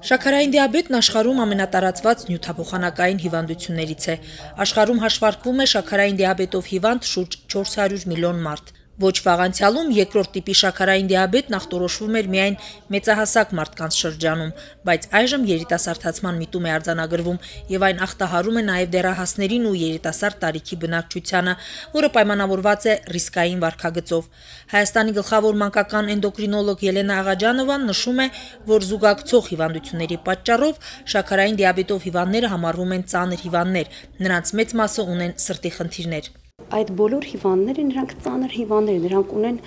Շաքարային դիաբետն աշխարհում ամենատարածված նյութափոխանակային հիվանդություններից է։ Աշխարհում հաշվարկվում է շաքարային դիաբետով հիվանդ շուրջ 400 միլիոն մարդ։ Ոչ վաղ անցյալում երկրորդ տիպի շաքարային դիաբետն ախտորոշվում էր միայն մեծահասակ մարդկանց շրջանում, բայց այժմ երիտասարդացման միտում է արձանագրվում եւ այն ախտահարում է նաեւ դեռահասներին ու երիտասարդ տարիքի բնակչությանը, որը պայմանավորված է ռիսկային վարքագծով։ Հայաստանի գլխավոր մանկական էնդոկրինոլոգ Ելենա Աղաջանովան նշում է, որ զուգակցող հիվանդությունների պատճառով շաքարային դիաբետով հիվանդները համարվում են ծանր հիվանդներ, նրանց մեծ մասը ունեն սրտի խնդիրներ։ Այդ բոլոր հիվանդները նրանք ծանր հիվանդներ են, նրանք ունեն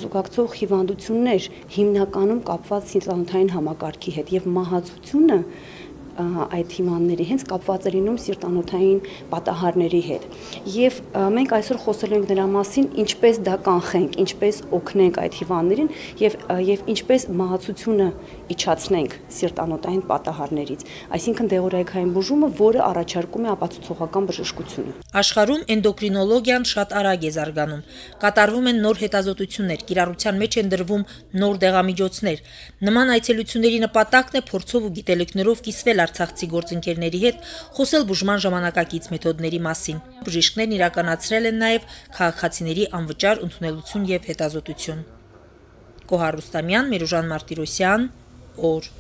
զուգակցող հիվանդություններ, հիմնականում կապված սիրտանոթային համակարգի հետ եւ մահացությունը այդ հիվանդների հենց կապված է լինում սիրտանոթային պատահարների հետ։ Եվ մենք այսօր խոսելու ենք նրա մասին, ինչպես դա կանխենք, ինչպես օգնենք այդ հիվանդներին եւ ինչպես մահացությունը իջացնենք սիրտանոթային պատահարներից, այսինքն դեղորայքային բուժումը, որը առաջարկում է ապացուցողական բժշկությունը։ Աշխարհում էնդոկրինոլոգիան շատ արագ է զարգանում։ Կատարվում են նոր հետազոտություններ, կիրառության մեջ են դրվում նոր դեղամիջոցներ։ Նման այցելությունների նպատակն է փորձով ու գիտելիքներով կիսվել արցախցի գործընկերների հետ, խոսել բուժման ժամանակակից մեթոդների մասին։ Բժիշկներն իրականացրել են նաև քաղաքացիների անվճար ընդունելություն եւ հետազոտություն։ Կոհար Ռուստամյան, Միրուժան Մարտիրոսյան, օր